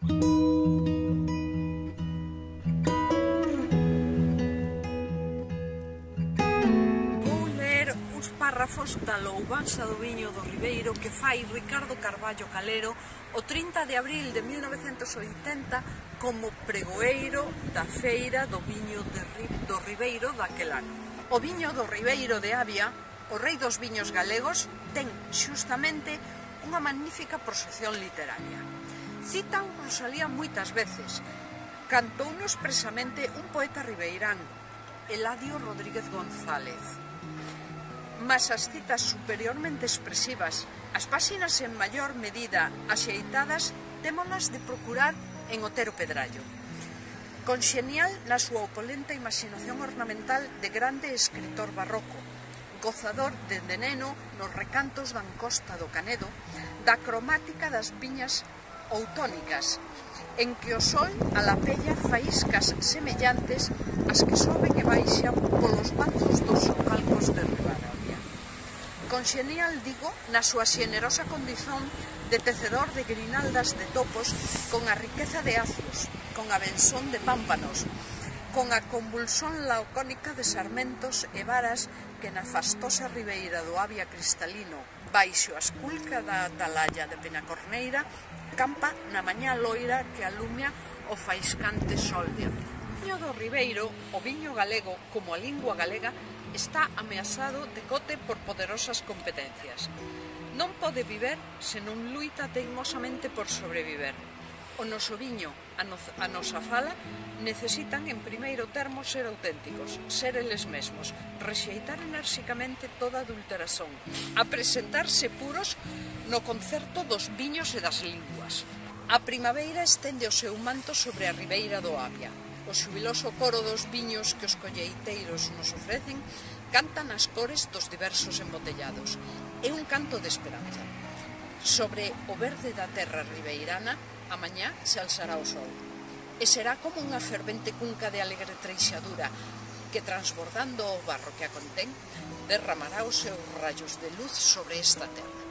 Vou ler uns párrafos da louvanza do viño do Ribeiro que fai Ricardo Carballo Calero o 30 de abril de 1980 como pregoeiro da feira do viño do Ribeiro daquel ano. O viño do Ribeiro de Avia, o rei dos viños galegos, ten xustamente unha magnífica proxección literaria. Cita un Rosalía moitas veces, cantouno expresamente un poeta ribeirán, Eladio Rodríguez González. Mas as citas superiormente expresivas, as páxinas en maior medida axeitadas, témolas de procurar en Otero Pedrallo. Conxenial na súa opulenta imaginación ornamental de grande escritor barroco, gozador dende neno nos recantos da encosta do Canedo, da cromática das viñas outónicas, en que o sol alapella faíscas semellantes ás que soben e baixan polos manzos dos socalcos de Ribadavia. Conxenial, digo, na súa xenerosa condición de tecedor de grinaldas de topos con a riqueza de acios, con a benzón de pámpanos, con a convulsión lacónica de sarmentos e varas que na fastosa ribeira do Avia cristalino, baixo a esculca da atalaya de Penacorneira, campa na mañá loira que alumia o faiscante sol de Avia. O viño do Ribeiro, o viño galego como a lingua galega, está ameazado de cote por poderosas competencias. Non pode viver se non luita teimosamente por sobreviver. O noso viño, a nosa fala, necesitan en primeiro termo ser auténticos, ser eles mesmos, rexeitar enérxicamente toda adulteración, a presentarse puros no concerto dos viños e das linguas. A primavera estende o seu manto sobre a ribeira do Avia. O xubiloso coro dos viños que os colleiteiros nos ofrecen canta nas cores dos diversos embotellados. É un canto de esperanza. Sobre o verde da terra ribeirana, a mañá se alzará o sol. E será como unha fervente cunca de alegre treixadura que, transbordando o barro que a contén, derramará os seus rayos de luz sobre esta terra.